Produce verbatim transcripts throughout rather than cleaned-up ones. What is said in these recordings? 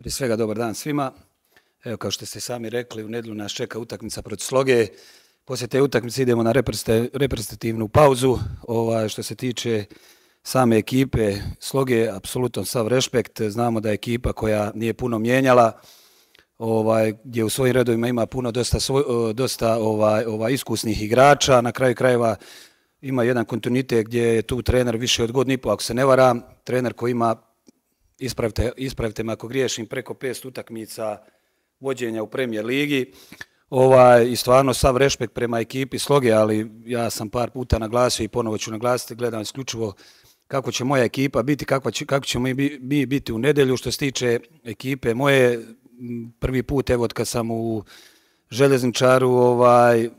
Prije svega dobar dan svima. Evo, kao što ste sami rekli, u nedjelju nas čeka utakmica protiv Sloge. Poslije te utakmice idemo na reprezentativnu pauzu. Ovaj, što se tiče same ekipe Sloge, apsolutno sav rešpekt. Znamo da je ekipa koja nije puno mijenjala, ovaj, gdje u svojim redovima ima puno dosta, svoj, dosta ovaj, ovaj, iskusnih igrača. Na kraju krajeva ima jedan kontinuitet gdje je tu trener više od godinu i pol, ako se ne varam, trener koji ima, ispravite, ispravite me ako griješim, preko petsto utakmica vođenja u Premier ligi. Ovaj, I stvarno sav rešpekt prema ekipi Sloge, ali ja sam par puta naglasio i ponovo ću naglasiti, gledam isključivo kako će moja ekipa biti, kako, će, kako ćemo mi, mi biti u nedjelju. Što se tiče ekipe moje, prvi put evo od kad sam u Željezničaru, ovaj,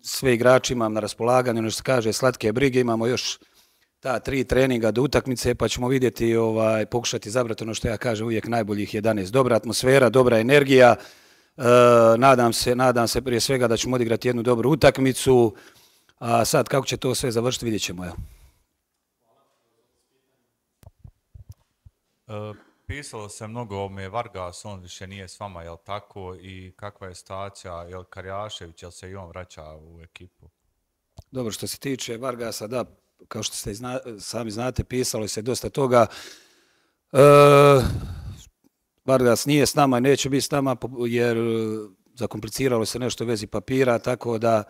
sve igrači imam na raspolaganju, ono što se kaže slatke brige, imamo još ta tri treninga do utakmice, pa ćemo vidjeti, ovaj, pokušati izabrati ono što ja kažem uvijek najboljih jedanaest. Dobra atmosfera, dobra energija, e, nadam se, nadam se prije svega da ćemo odigrati jednu dobru utakmicu, a sad kako će to sve završiti vidjet ćemo. Ja. E, pisalo se mnogo o me Vargas, on više nije s vama, jel tako, i kakva je situacija, jel Karjašević, jel se i on vraća u ekipu? Dobro, što se tiče Vargasa, da, kao što ste zna, sami znate, pisalo se dosta toga. E, Vargas nije s nama i neće biti s nama jer zakompliciralo se nešto u vezi papira, tako da,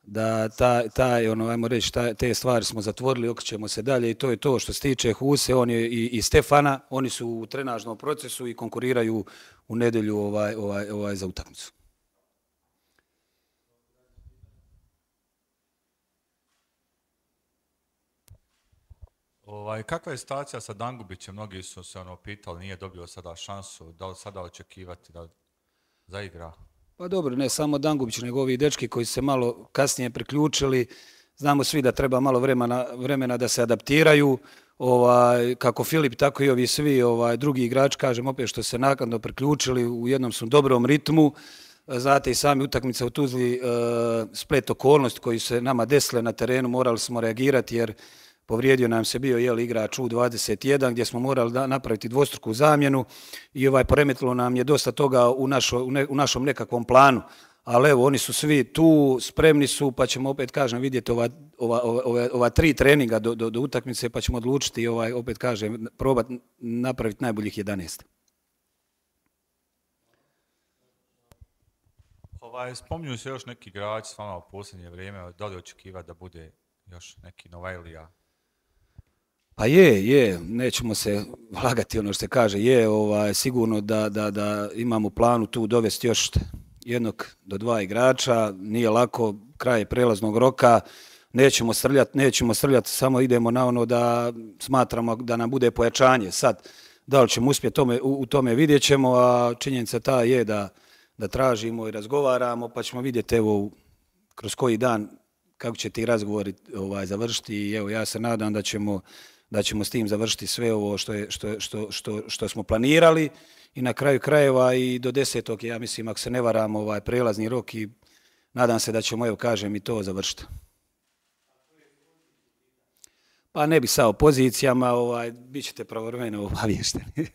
da taj, taj, ono, ajmo reći, taj, te stvari smo zatvorili, okrećemo se dalje i to je to. Što se tiče Huse, on je i, i Stefana, oni su u trenažnom procesu i konkuriraju u nedjelju ovaj, ovaj, ovaj za utakmicu. Ovaj, kakva je situacija sa Dangubićem? Mnogi su se ono pitali, nije dobio sada šansu, da li sada očekivati da zaigra? Pa dobro, ne samo Dangubić, nego ovi dečki koji su se malo kasnije priključili. Znamo svi da treba malo vremena, vremena da se adaptiraju. Ovaj, kako Filip, tako i ovi svi ovaj, drugi igrači, kažem opet, što se naknadno priključili, u jednom su dobrom ritmu. Znate i sami utakmica u Tuzli, uh, splet okolnosti koji se nama desile na terenu, morali smo reagirati jer povrijedio nam se bio jel, igrač U dvadeset jedan gdje smo morali da, napraviti dvostruku zamjenu i ovaj, poremetilo nam je dosta toga u, našo, u, ne, u našom nekakvom planu. Ali evo, oni su svi tu, spremni su, pa ćemo opet, kažem, vidjeti ova, ova, ova, ova tri treninga do, do, do utakmice, pa ćemo odlučiti, ovaj, opet kažem, probati napraviti najboljih jedanaest. Ovaj, spominju se još neki igrači s vama u posljednje vrijeme, da li očekivati da bude još neki Novajlija? Pa je, je, nećemo se lagati ono što se kaže, je ovaj, sigurno da, da, da imamo u planu tu dovesti još jednog do dva igrača, nije lako, kraj prelaznog roka, nećemo srljati, nećemo srljati, samo idemo na ono da smatramo da nam bude pojačanje. Sad, da li ćemo uspjeti tome, u, u tome vidjet ćemo, a činjenica ta je da, da tražimo i razgovaramo, pa ćemo vidjeti evo kroz koji dan kako će ti razgovori ovaj, završiti i evo ja se nadam da ćemo da ćemo s tim završiti sve ovo što, je, što, što, što, što smo planirali i na kraju krajeva i do desetog, ja mislim, ako se ne varam, ovaj, prelazni rok i nadam se da ćemo, evo kažem, i to završiti. Pa ne bi sa opozicijama, ovaj, bit ćete pravovremeno obavješteni.